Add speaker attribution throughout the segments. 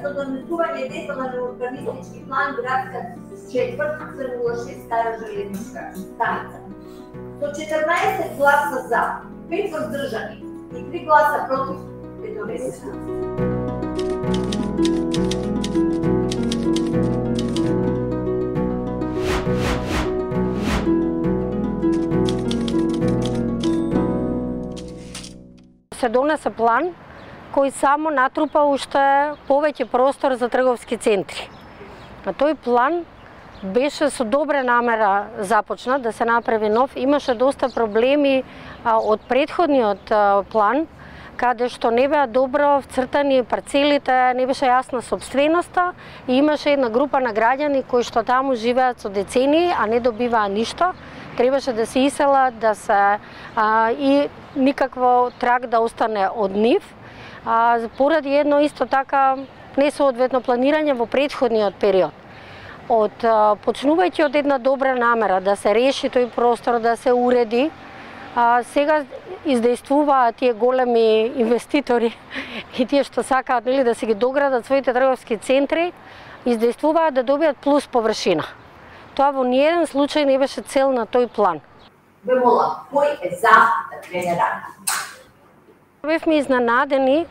Speaker 1: со донесување детален урбанистички план градска четврт C06 Стара железничка станица. Со 14 гласа за, 5 воздржани и 3 гласа против е донесена.
Speaker 2: Се донесе план кој само натрупа уште повеќе простор за трговски центри. А тој план беше со добра намера започнат да се направи нов. Имаше доста проблеми од претходниот план, каде што не беа добро вцртани парцелите, не беше јасна собственоста и имаше една група на граѓани кои што таму живеат со децении, а не добиваа ништо. Требаше да се иселат, да се и никакво траг да остане од нив. Поради едно исто така несоодветно планирање во претходниот период. Почнувајќи од една добра намера да се реши тој простор, да се уреди, сега издействуваат тие големи инвеститори и тие што сакаат да се ги доградат своите трговски центри, издействуваат да добијат плюс површина. Тоа во ниеден случај не беше цел на тој план.
Speaker 1: Ве молам, кој е за да крене рада?
Speaker 2: Бевме изненадени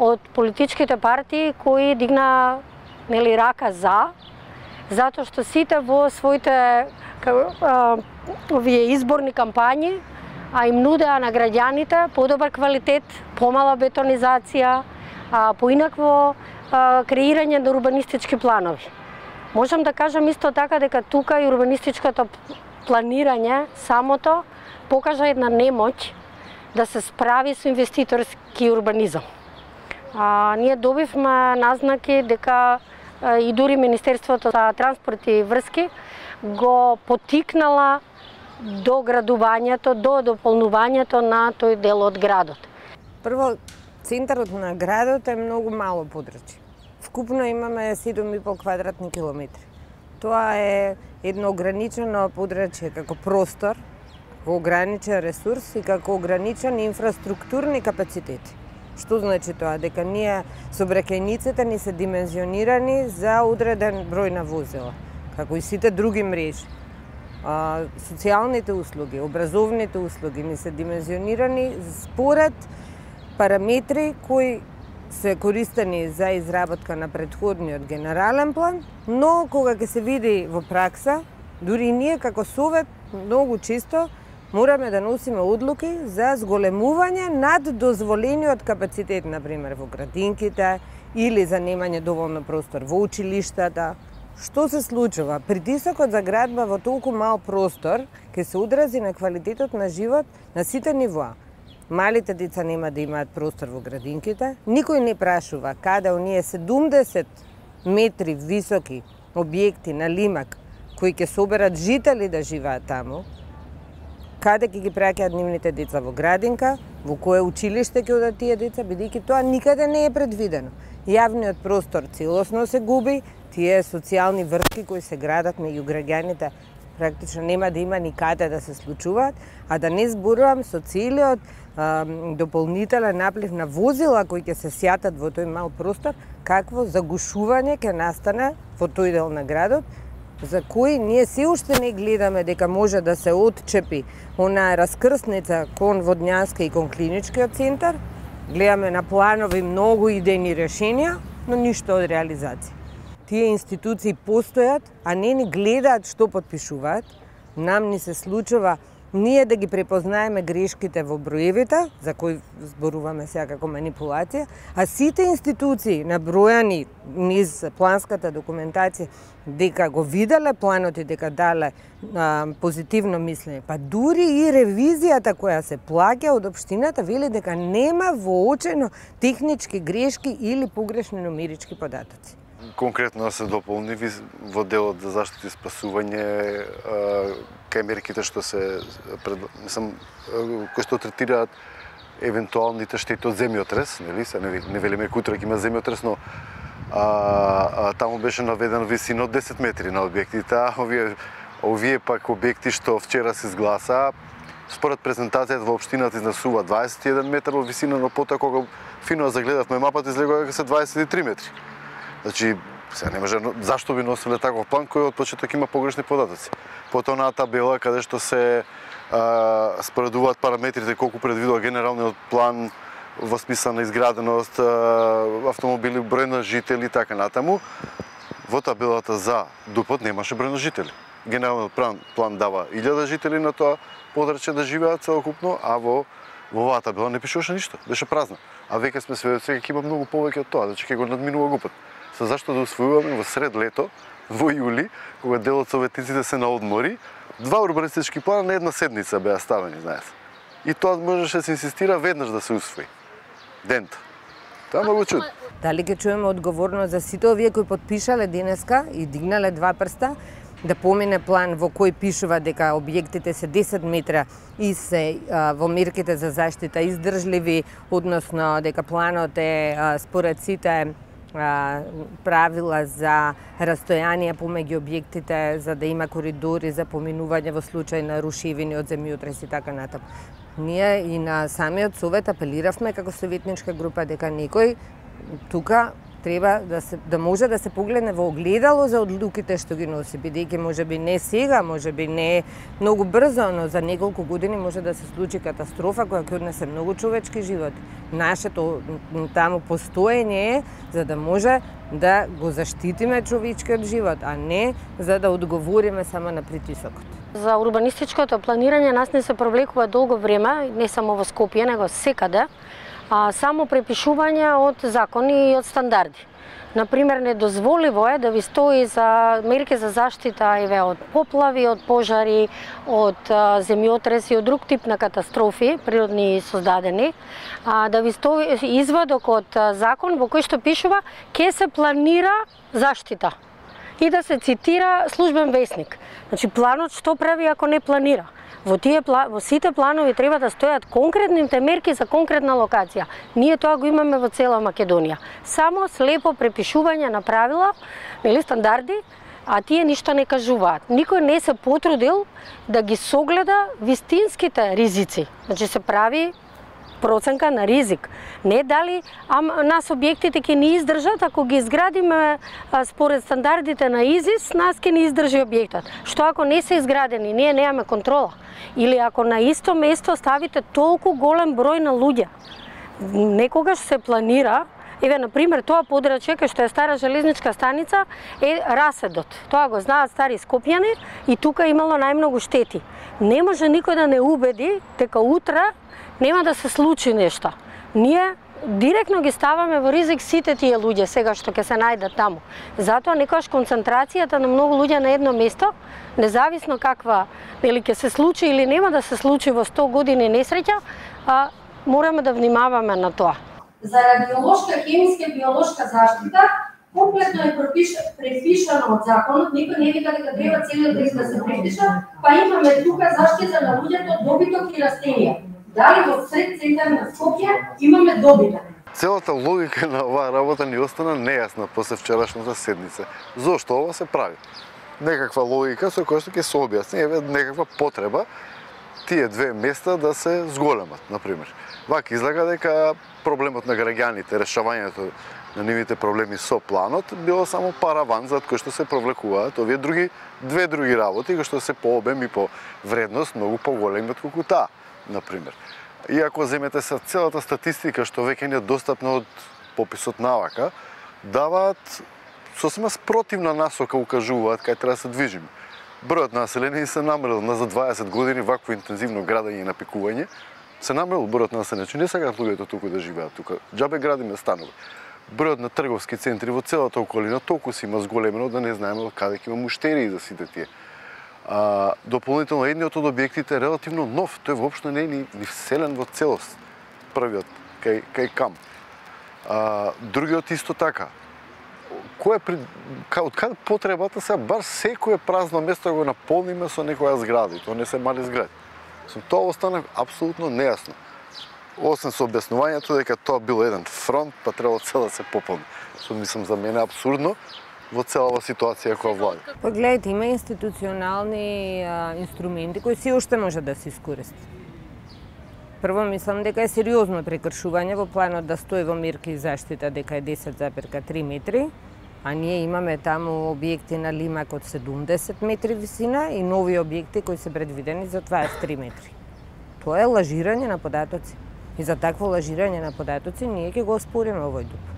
Speaker 2: од политичките партии кои дигна рака за, затоа што сите во своите овие изборни кампањи им нудеа на граѓаните подобар квалитет, помала бетонизација, поинакво креирање на урбанистички планови. Можам да кажам исто така дека тука и урбанистичкото планирање самото покажа една немоќ да се справи со инвеститорски урбанизам. Ние добивме назнаки дека и дури Министерството за транспорт и врски го потикнала до градувањето, до дополнувањето на тој дел од градот.
Speaker 3: Прво, центарот на градот е многу мало подрачје. Вкупно имаме 7,5 квадратни километри. Тоа е едно ограничено подрачје како простор, како ограничен ресурс и како ограничен инфраструктурни капацитети. Што значи тоа? Дека ние сообраќајниците ни се димензионирани за одреден број на возила, како и сите други мрежи. Социјалните услуги, образовните услуги ни се димензионирани според параметри кои се користени за изработка на претходниот генерален план, но кога ќе се види во пракса, дури ние како совет многу често мораме да носиме одлуки за зголемување над дозволениот капацитет, например во градинките или за немање доволно простор во училиштата. Што се случува? Притисокот за градба во толку мал простор ќе се одрази на квалитетот на живот на сите нивоа. Малите деца нема да имаат простор во градинките. Никој не прашува каде оние 70 метри високи објекти на лимак кои ќе соберат жители да живеат таму, каде ќе ги праќаат нивните деца во градинка, во кое училиште ќе одат тие деца, бидејќи тоа никаде не е предвидено. Јавниот простор целосно се губи, тие социјални врски кои се градат меѓу граѓаните практично нема да има никаде да се случуваат, а да не зборувам со целиот дополнителен наплив на возила кои ќе се сјатат во тој мал простор, какво загушување ќе настане во тој дел на градот, за кои ние се уште не гледаме дека може да се отчепи онаа раскрсница кон Водњанска и кон клиничкиот центар. Гледаме на планови многу идејни решенија, но ништо од реализација. Тие институции постојат, а не ни гледаат што потпишуваат. Нам ни се случува ние да ги препознаеме грешките во броевите, за кои зборуваме сега како манипулација, а сите институции набројани низ планската документација дека го виделе планот и дека дале позитивно мислење, па дури и ревизијата која се плаќа од општината вели дека нема воочено технички грешки или погрешни нумерички податоци.
Speaker 4: Конкретно се дополни во делот за заштита и спасување кај мерките што се кои што третираат евентуалните штети од земјотрес, нели? Не велиме кутра ќе има земјотрес, но таму беше наведена висина од 10 метри на објектите, а овие пак објекти што вчера се изгласа, според презентацијата во општината изнесува 21 метар во висина, но потоа кога фино загледавме мапата излегува дека се 23 метри. Значи, сега не може, зашто би носиле таков план кој од почеток има погрешни податоци? Потоа на табела каде што се споредуваат параметрите колку предвидува генералниот план во смисла на изграденост, автомобили, број на жители и така натаму, во табелата за Дупот немаше број на жители. Генералниот план дава 1000 жители на тоа подрачје да живеат целокупно, а во оваа табела не пишуваше ништо, беше празна. А веќе сме сведоци дека има многу повеќе од тоа, значи ќе го надминува Гупот. Со зашто да усвојуваме во сред лето, во јули, кога дел од советниците се на одмори, 2 урбанистички плана на една седница беа ставени, знаете. И тоа можеше да се инсистира веднаш да се усвои. Дента. Тоа многу чудно.
Speaker 3: Дали ќе чуеме одговорност за сите овие кои подпишале денеска и дигнале 2 прста, да помине план во кој пишува дека објектите се 10 метра и се во мерките за заштита издржливи, односно дека планот е според сите правила за растојанија помеѓу објектите, за да има коридори за поминување во случај на рушевини од земјотрес и така натаму. Ние и на самиот совет апелиравме како советничка група дека некој тука треба да може да се погледне во огледало за одлуките што ги носи, бидејќи можеби не сега, можеби не многу брзо, но за неколку години може да се случи катастрофа која ќе однесе многу човечки животи. Нашето таму постоење е за да може да го заштитиме човечкиот живот, а не за да одговориме само на притисокот.
Speaker 2: За урбанистичкото планирање нас не се провлекува долго време, не само во Скопје, него секаде. Само препишување од закони и од стандарди. Например, недозволиво е да ви стои за мерки за заштита од поплави, од пожари, од земјотреси и од друг тип на катастрофи природни создадени, да ви стои извадок од закон во кој што пишува ке се планира заштита и да се цитира службен весник. Значи планот што прави ако не планира? Во сите планови треба да стојат конкретните мерки за конкретна локација. Ние тоа го имаме во цела Македонија. Само слепо препишување на правила, нели стандарди, а тие ништо не кажуваат. Никој не се потрудил да ги согледа вистинските ризици. Значи се прави проценка на ризик. Не дали нас објектите ќе ни издржат, ако ги изградиме според стандардите на ИЗИС, нас ќе ни издржи објектот. Што ако не се изградени, ние немаме контрола? Или ако на исто место ставите толку голем број на луѓе, некогаш се планира, например, тоа подрачје кај што е стара железничка станица е раседот. Тоа го знаат стари скопјани и тука имало најмногу штети. Не може никој да не убеди дека утре нема да се случи нешто. Ние директно ги ставаме во ризик сите тие луѓе сега што ќе се најдат таму. Затоа некогаш концентрацијата на многу луѓе на едно место, независно каква или ќе се случи или нема да се случи во 100 години несреќа, мораме да внимаваме на тоа.
Speaker 1: За радиолошка, хемиска и биолошка заштита комплетно е препишано од законот, никој не вика дека треба целиот текст да се препиша, па имаме тука заштита на луѓето, добиток и растенија. Дали во сред центар на Скопје имаме добиток?
Speaker 4: Целата логика на оваа работа ни остана нејасна после вчерашната седница. Зошто ова се прави? Некаква логика со која што ќе се објасни, некаква потреба тие две места да се зголемат, например. Вака излага дека проблемот на граѓаните, решавањето на нивните проблеми со планот било само параван за кој што се провлекуваат овие две други работи кои што се по обем и по вредност многу поголеми од колку таа, например. И ако земете се целата статистика што веќе не е достапна од пописот на АВАК, даваат сосема спротивна насока, укажуваат кај треба да се движиме. Бројот на население се намалил за 20 години вакво интензивно градење и напикување. Се намалил бројот на население, не сакаат луѓето тука да живеат тука. Џабе градиме станови. Бројот на трговски центри во целата околина толку се има зголемено да не знаеме каде ќе има муштерии за сите тие. Дополнително едниот од објектите е релативно нов, тој воопшто не е ни вселен во целост. Првиот кај Кам. Другиот исто така. Од каде потребата се бар секое празно место го наполниме со некоја зграда, и тоа не се мали згради. Тоа остана апсолутно нејасно. Освен со објаснувањето дека тоа бил еден фронт, па требало цел да се пополни. Што мислам за мене абсурдно во целава ситуација која влади.
Speaker 3: Погледайте, има институционални инструменти кои се уште може да се искористат. Прво мислам дека е сериозно прекршување во планот да стои во мерки заштита дека е 10,3 метри. А ние имаме таму објекти на Лимак од 70 метри висина и нови објекти кои се предвидени за 23 метри. Тоа е лажирање на податоци. И за такво лажирање на податоци ние ќе го оспориме овој ДУП.